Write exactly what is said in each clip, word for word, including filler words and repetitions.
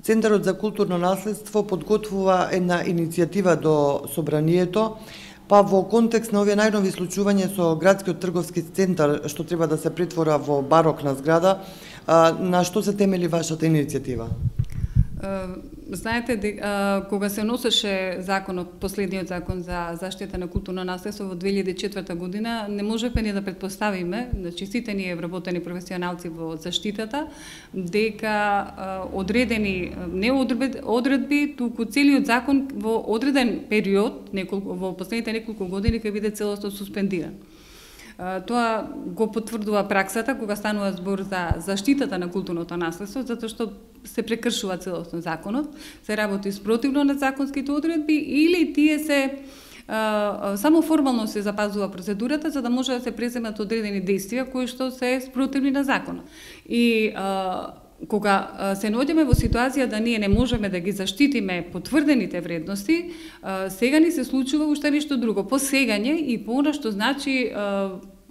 Центарот за културно наследство подготвува една иницијатива до Собранието, па во контекст на овие најнови случувања со градскиот трговски центар што треба да се претвора во барокна зграда, на што се темели вашата иницијатива? Знаете, кога се носеше законот, последниот закон за заштита на културно наследство во две илјади и четврта година, не можевме ни да предпоставиме, значи сите ние вработени професионалци во заштитата, дека одредени не одредби, туку целиот закон во одреден период, неколку во последните неколку години ќе биде целосно суспендиран. Тоа го потврдува праксата кога станува збор за заштитата на културното наследство, затоа што се прекршува целосно законот, се работи спротивно на законските одредби или тие се а, само формално се запазува процедурата за да може да се преземат одредени действија кои што се спротивни на законот. И а, кога се наоѓаме во ситуација да ние не можеме да ги заштитиме потврдените вредности, сега ни се случува уште нешто друго, посегање и по она што значи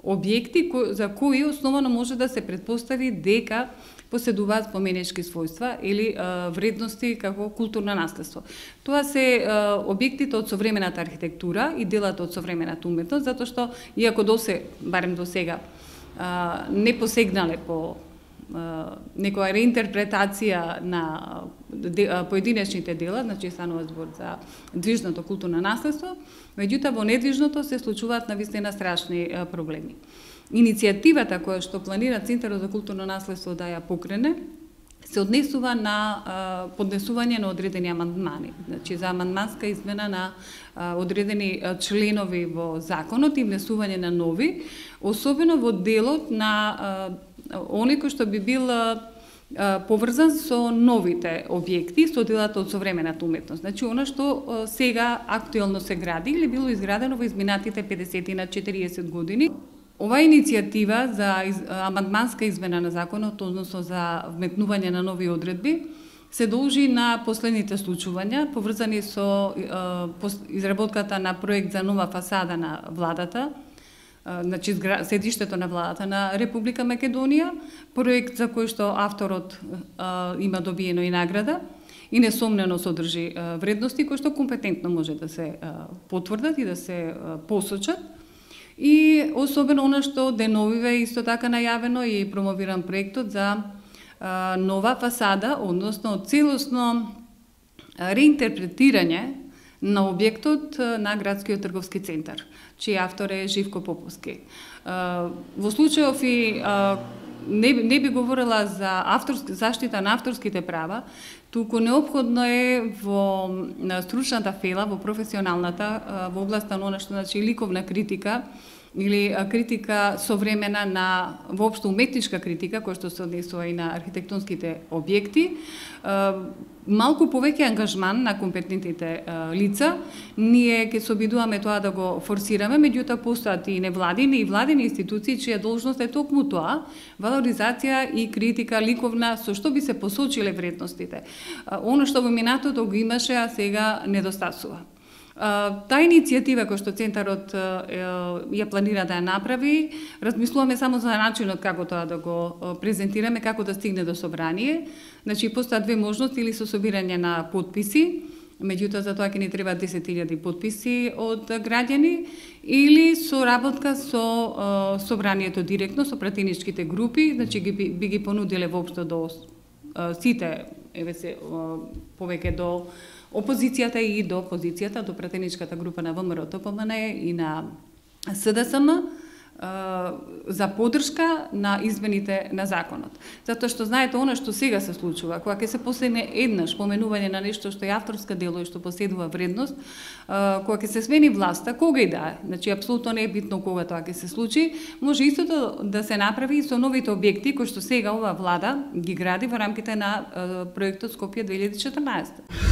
објекти за кои основано може да се претпостави дека поседуваат споменички својства или вредности како културно наследство. Тоа се објектите од современата архитектура и делата од современата уметност, затоа што иако досе, барем до сега, не посегнале по некоја реинтерпретација на поединечните дела, значи станува збор за движното културно наследство, меѓутоа во недвижното се случуваат навистина страшни проблеми. Иницијативата која што планира Центарот за културно наследство да ја покрене, се однесува на поднесување на одредени амандмани, значи за амандманска измена на одредени членови во законот и внесување на нови, особено во делот на оној кој што би бил поврзан со новите објекти, со делата од современата уметност. Значи, она што сега актуелно се гради или било изградено во изминатите педесет на четириесет години. Ова иницијатива за амандманска измена на законот, односно за вметнување на нови одредби, се должи на последните случувања, поврзани со изработката на проект за нова фасада на владата, значи седиштето на владата на Република Македонија, проект за кој што авторот а, има добиено и награда и несомнено содржи а, вредности кои што компетентно може да се а, потврдат и да се а, посочат. И особено она што деновиве исто така најавено и промовиран проектот за а, нова фасада, односно целосно реинтерпретирање на објектот на градскиот трговски центар, чиј автор е Живко Поповски. Во случајов и не, не би говорила за авторски, заштита на авторските права, туку неопходно е во стручната фела, во професионалната, во областа на она што значи ликовна критика, или критика современа на воопшто уметничка критика која што се однесува и на архитектонските објекти, малку повеќе ангажман на компетентните лица. Ние ќе се обидуваме тоа да го форсираме, меѓутоа постојат и невладини и владини институции чија должност е токму тоа, валоризација и критика ликовна со што би се посочиле вредностите. Оно што во минатото го имаше, а сега недостасува. Таа иницијатива која што Центарот ја планира да ја направи, размислуваме само за начинот како тоа да го презентираме, како да стигне до собрание. Значи, постојат две можности, или со собирање на потписи, меѓутоа за тоа ќе ни треба десет илјади потписи од граѓани, или со работка со собранието директно, со пратеничките групи, значи ги, би ги понудиле воопшто до сите, еве се, повеќе до опозицијата и до позицијата, до пратеничката група на ВМРО-ТПМН и на СДСМ за поддршка на измените на законот. Затоа што знаете она што сега се случува, кога ќе се посегне еднаш поменување на нешто што е авторска дело и што поседува вредност, кога ќе се смени власта, кога и да е, значи апсолутно не е битно кога тоа ќе се случи, може истото да се направи и со новите објекти кои што сега оваа влада ги гради во рамките на проектот Скопје две илјади и четрнаесетта.